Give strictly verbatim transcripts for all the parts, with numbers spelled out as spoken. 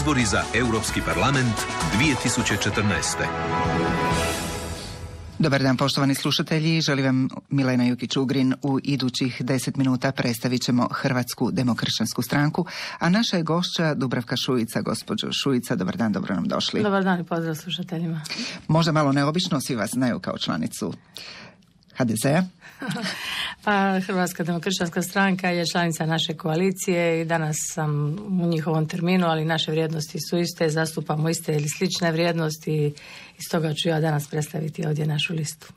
Izbori za Europski parlament dvije tisuće četrnaeste. Dobar dan, poštovani slušatelji. Želim vam Milena Jukić-Ugrin. U idućih deset minuta predstavit ćemo Hrvatsku demokršćansku stranku, a naša je gošća Dubravka Šuica. Gospođo Šuica, dobar dan, dobro nam došli. Dobar dan i pozdrav slušateljima. Možda malo neobično, svi vas znaju kao članicu ha de zea. Pa Hrvatska demokršćanska stranka je članica naše koalicije i danas sam u njihovom terminu, ali naše vrijednosti su iste, zastupamo iste ili slične vrijednosti i stoga ću ja danas predstaviti ovdje našu listu.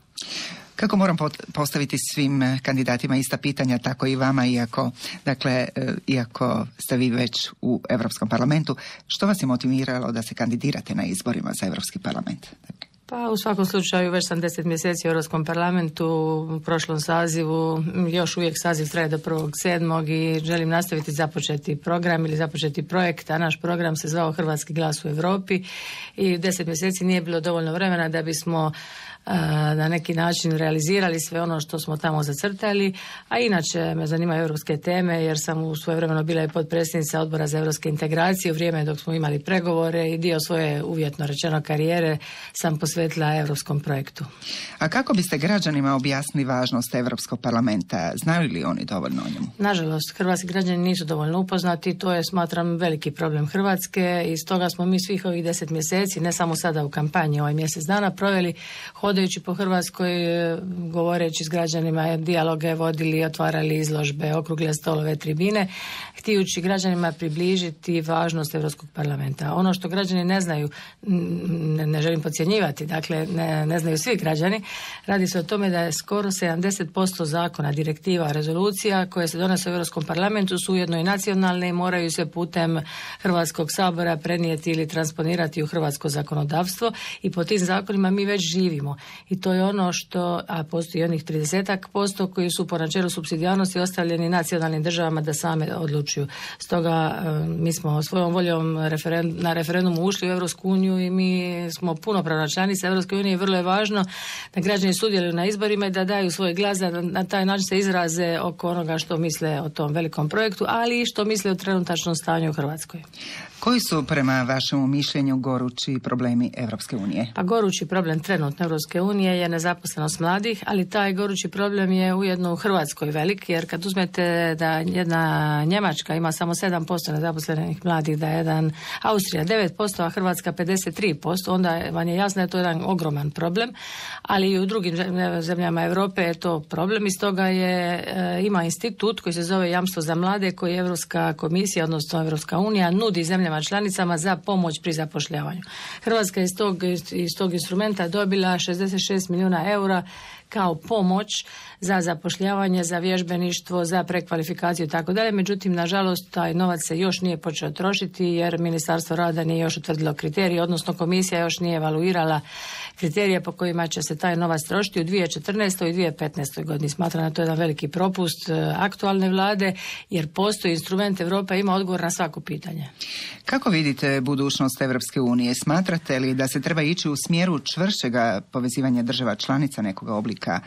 Kako moram postaviti svim kandidatima ista pitanja, tako i vama, iako, dakle, iako ste vi već u Europskom parlamentu, što vas je motiviralo da se kandidirate na izborima za Europski parlament? Pa u svakom slučaju već sam deset mjeseci u Europskom parlamentu, u prošlom sazivu, još uvijek saziv traje do prvog sedmog i želim nastaviti započeti program ili započeti projekt, a naš program se zvao Hrvatski glas u Europi i deset mjeseci nije bilo dovoljno vremena da bismo na neki način realizirali sve ono što smo tamo zacrtali, a inače me zanimaju europske teme jer sam u svojevremeno bila i potpredsjednica Odbora za europske integracije u vrijeme dok smo imali pregovore i dio svoje uvjetno rečeno karijere sam posvetila europskom projektu. A kako biste građanima objasnili važnost Europskog parlamenta? Znaju li oni dovoljno o njemu? Nažalost, hrvatski građani nisu dovoljno upoznati, to je, smatram, veliki problem Hrvatske i stoga smo mi svih ovih deset mjeseci, ne samo sada u kampanji, ovaj mjesec dana, proveli hodajući po Hrvatskoj, govoreći s građanima, dijaloge vodili, otvarali izložbe, okrugle stolove, tribine, htijući građanima približiti važnost Europskog parlamenta. Ono što građani ne znaju, ne, ne želim podcjenjivati, dakle ne, ne znaju svi građani, radi se o tome da je skoro sedamdeset posto zakona, direktiva, rezolucija koje se donose u Europskom parlamentu su ujedno i nacionalne i moraju se putem Hrvatskog sabora prenijeti ili transponirati u hrvatsko zakonodavstvo i po tim zakonima mi već živimo. I to je ono što, a postoji onih tridesetak posto koji su po načelu supsidijarnosti ostavljeni nacionalnim državama da same odlučuju. Stoga mi smo svojom voljom referendum, na referendumu ušli u Europsku uniju i mi smo punopravna članica Europske unije i vrlo je važno da građani sudjeluju na izborima i da daju svoj glas, da na taj način se izraze oko onoga što misle o tom velikom projektu, ali i što misle o trenutačnom stanju u Hrvatskoj. Koji su prema vašemu mišljenju gorući problemi Europske unije? Pa gorući problem trenutno Europske unije je nezaposlenost mladih, ali taj gorući problem je ujedno u Hrvatskoj velik, jer kad uzmete da jedna Njemačka ima samo sedam posto nezaposlenih mladih, da je jedan Austrija devet posto, a Hrvatska pedeset tri posto, onda vam je jasno da je to jedan ogroman problem, ali i u drugim zemljama Europe je to problem i stoga je, ima institut koji se zove Jamstvo za mlade, koji Europska komisija, odnosno Europska unija, nudi zemljama članicama za pomoć pri zapošljavanju. Hrvatska je iz tog, iz tog instrumenta dobila šezdeset šest milijuna eura kao pomoć za zapošljavanje, za vježbeništvo, za prekvalifikaciju i tako dalje. Međutim, nažalost, taj novac se još nije počeo trošiti jer Ministarstvo rada nije još utvrdilo kriterije, odnosno komisija još nije evaluirala kriterije po kojima će se taj novac trošiti u dvije tisuće četrnaestoj i dvije tisuće petnaestoj godini. Smatram da to je jedan veliki propust aktualne vlade jer postoji instrument, Europa ima odgovor na svako pitanje. Kako vidite budućnost Europske unije? Smatrate li da se treba ići u smjeru čvršćega povezivanja država članica nekog oblika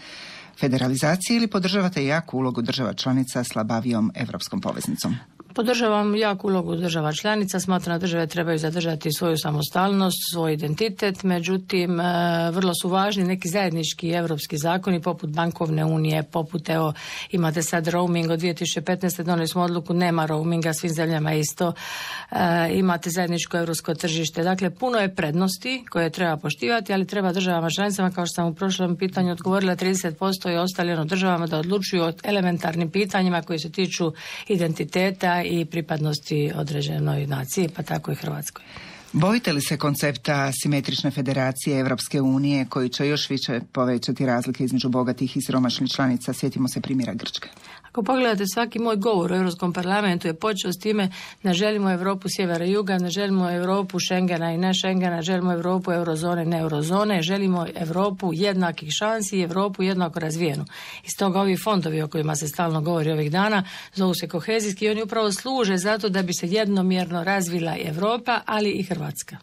federalizacije ili podržavate jaku ulogu država članica slabavijom europskom poveznicom? Podržavam jaku ulogu država članica, smatram da države trebaju zadržati svoju samostalnost, svoj identitet, međutim vrlo su važni neki zajednički europski zakoni poput bankovne unije, poput evo imate sad roaming od dvije tisuće petnaeste. donijeli smo odluku nema roaminga, svim zemljama isto, e, imate zajedničko europsko tržište, dakle puno je prednosti koje treba poštivati, ali treba državama članicama, kao što sam u prošlom pitanju odgovorila, trideset posto je ostavljeno državama da odlučuju o elementarnim pitanjima koji se tiču identiteta i pripadnosti određenoj naciji, pa tako i Hrvatskoj. Bojite li se koncepta simetrične federacije Europske unije koji će još više povećati razlike između bogatih i siromašnih članica? Sjetimo se primjera Grčke. Ako pogledate, svaki moj govor u Europskom parlamentu je počeo s time ne želimo Europu sjevera i juga, ne želimo Europu Schengena i ne Schengena, želimo Europu eurozone i ne eurozone, želimo Europu jednakih šansi i Europu jednako razvijenu. I stoga ovi fondovi o kojima se stalno govori ovih dana zovu se kohezijski i oni upravo služe zato da bi se jednomjerno razvila Europa, ali i Hrvatska.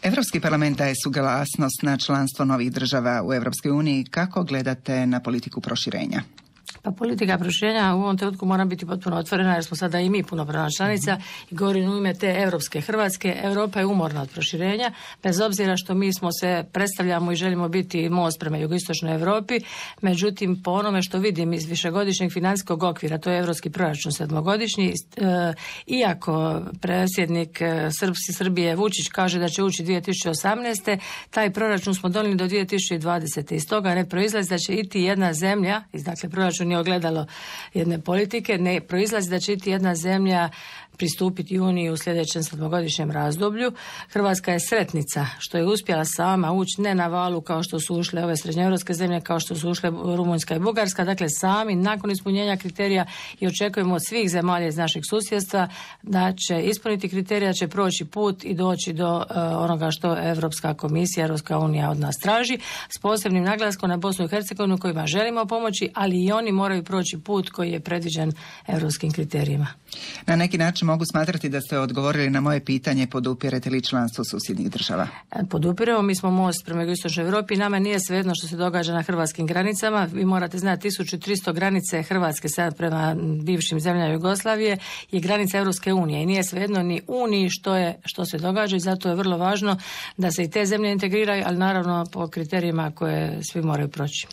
Europski parlament daje suglasnost na članstvo novih država u Europskoj uniji. Kako gledate na politiku proširenja? Pa politika proširenja u ovom trenutku mora biti potpuno otvorena jer smo sada i mi punopravna članica mm-hmm. i govorim u ime te europske Hrvatske. Europa je umorna od proširenja, bez obzira što mi smo se predstavljamo i želimo biti most prema jugoistočnoj Europi, međutim po onome što vidim iz višegodišnjeg financijskog okvira, to je europski proračun sedmogodišnji, e, iako predsjednik Srpske Srbije Vučić kaže da će ući dvije tisuće osamnaeste. taj proračun smo donijeli do dvije tisuće dvadesete. Iz toga ne proizlazi da će iti jedna zemlja, iz dakle proračun nije ogledalo jedne politike, ne proizlazi da će iti jedna zemlja pristupiti Uniji u sljedećem sedmogodišnjem razdoblju. Hrvatska je sretnica što je uspjela sama ući ne na valu kao što su ušle ove srednjoeuropske zemlje, kao što su ušle Rumunjska i Bugarska, dakle sami nakon ispunjenja kriterija i očekujemo od svih zemalja iz našeg susjedstva da će ispuniti kriterija, će proći put i doći do uh, onoga što Europska komisija, Europska unija od nas traži, s posebnim naglaskom na Bosnu i Hercegovinu kojima želimo pomoći, ali i oni moraju proći put koji je predviđen europskim kriterijima. Na neki način mogu smatrati da ste odgovorili na moje pitanje podupirete li članstvo susjednih država? Podupiremo, mi smo most prema jugoistočnoj Europi, nama nije svejedno što se događa na hrvatskim granicama. Vi morate znati tisuću tristo granice Hrvatske sad prema bivšim zemljama Jugoslavije je granica Europske unije i nije svejedno ni Uniji što je što se događa i zato je vrlo važno da se i te zemlje integriraju, ali naravno po kriterijima koje svi moraju proći.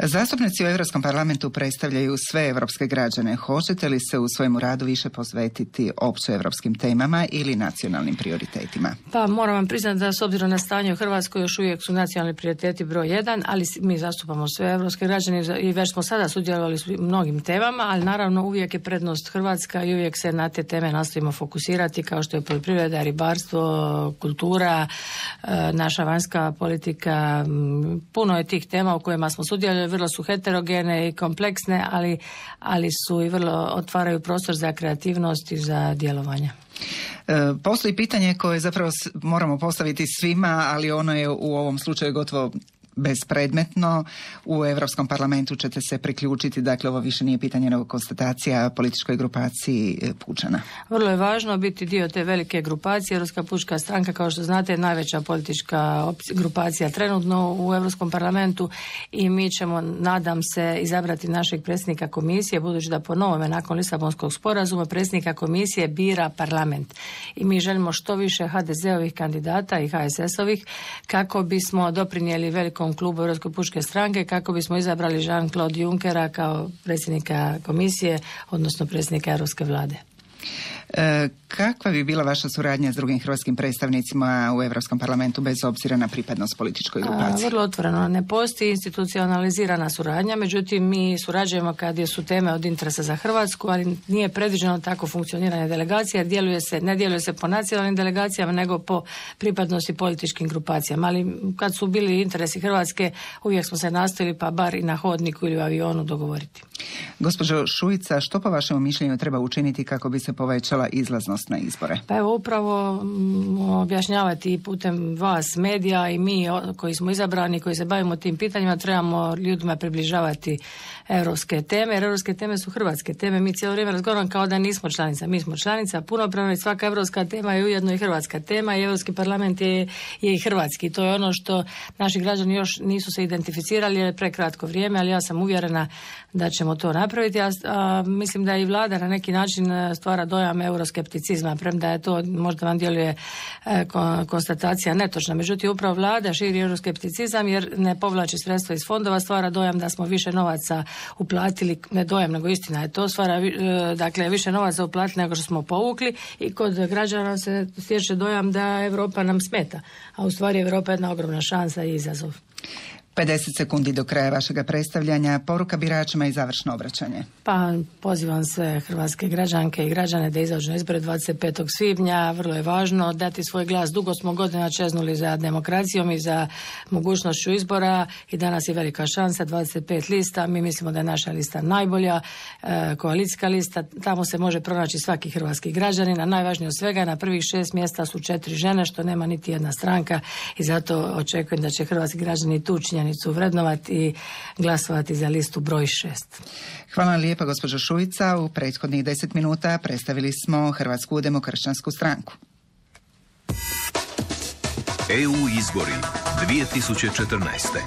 Zastupnici u Europskom parlamentu predstavljaju sve europske građane. Hoćete li se u svojem radu više posvetiti općoevropskim temama ili nacionalnim prioritetima? Pa moram vam priznati da s obzirom na stanje u Hrvatskoj još uvijek su nacionalni prioriteti broj jedan, ali mi zastupamo sve europske građane i već smo sada sudjelovali u mnogim temama, ali naravno uvijek je prednost Hrvatska i uvijek se na te teme nastojimo fokusirati kao što je poljoprivreda, ribarstvo, kultura, naša vanjska politika. Puno je tih tema u kojima smo sudjelovali, vrlo su heterogene i kompleksne, ali, ali su i vrlo otvaraju prostor za kreativnost i za djelovanje. E, postoji pitanje koje zapravo moramo postaviti svima, ali ono je u ovom slučaju gotovo bespredmetno. U Europskom parlamentu ćete se priključiti, dakle ovo više nije pitanje nego konstatacija političkoj grupaciji Pučana. Vrlo je važno biti dio te velike grupacije. Europska pučka stranka, kao što znate, je najveća politička grupacija trenutno u Europskom parlamentu i mi ćemo, nadam se, izabrati našeg predsjednika komisije, budući da po novome nakon Lisabonskog sporazuma predsjednika komisije bira parlament. I mi želimo što više ha de ze-ovih kandidata i ha es es-ovih kako bismo doprinijeli velikom klubu Europske pučke stranke, kako bismo izabrali Jean-Claude Junckera kao predsjednika komisije, odnosno predsjednika Europske vlade. E, kakva bi bila vaša suradnja s drugim hrvatskim predstavnicima u Europskom parlamentu bez obzira na pripadnost političkoj grupaciji? A, vrlo otvoreno. Ne postoji institucionalizirana suradnja, međutim mi surađujemo kad su teme od interesa za Hrvatsku, ali nije predviđeno tako funkcioniranje delegacija, jer djeluje se, ne djeluje se po nacionalnim delegacijama, nego po pripadnosti političkim grupacijama. Ali kad su bili interesi Hrvatske, uvijek smo se nastojili pa bar i na hodniku ili u avionu dogovoriti. Gospođo Šuica, što po vašem mišljenju treba učiniti kako bi se povećala izlaznost na izbore? Pa evo upravo m, objašnjavati putem vas, medija i mi o, koji smo izabrani, koji se bavimo tim pitanjima, trebamo ljudima približavati europske teme, jer europske teme su hrvatske teme. Mi cijelo vrijeme razgovaramo kao da nismo članica. Mi smo članica, punopravna i svaka europska tema je ujedno i hrvatska tema i Europski parlament je, je i hrvatski. To je ono što naši građani još nisu se identificirali jer je prekratko vrijeme, ali ja sam uvjerena da ćemo to napraviti. A, a mislim da i vlada na neki način stvara dojam euroskepticizma, premda je to možda vam djeluje e, konstatacija netočna. Međutim, upravo vlada širi euroskepticizam jer ne povlači sredstva iz fondova, stvara dojam da smo više novaca uplatili, ne dojam, nego istina je to, stvara e, dakle više novaca uplatili nego što smo povukli i kod građana se stječe dojam da Europa nam smeta, a u stvari Europa je jedna ogromna šansa i izazov. pedeset sekundi do kraja vašega predstavljanja, poruka biračima i završno obraćanje. Pa pozivam sve hrvatske građanke i građane da izađu na izbore dvadeset petog svibnja. Vrlo je važno dati svoj glas. Dugo smo godina čeznuli za demokracijom i za mogućnošću izbora i danas je velika šansa, dvadeset pet lista. Mi mislimo da je naša lista najbolja, e, koalicijska lista. Tamo se može pronaći svaki hrvatski građanin, a najvažnije od svega na prvih šest mjesta su četiri žene, što nema niti jedna stranka i zato očekujem da će hrvatski građani tu činjenicu vrednovati i glasovati za listu broj šest. Hvala vam lijepa, gospođo Šuica. U prethodnih deset minuta predstavili smo Hrvatsku demokršćansku stranku. E U izbori dvije tisuće četrnaeste.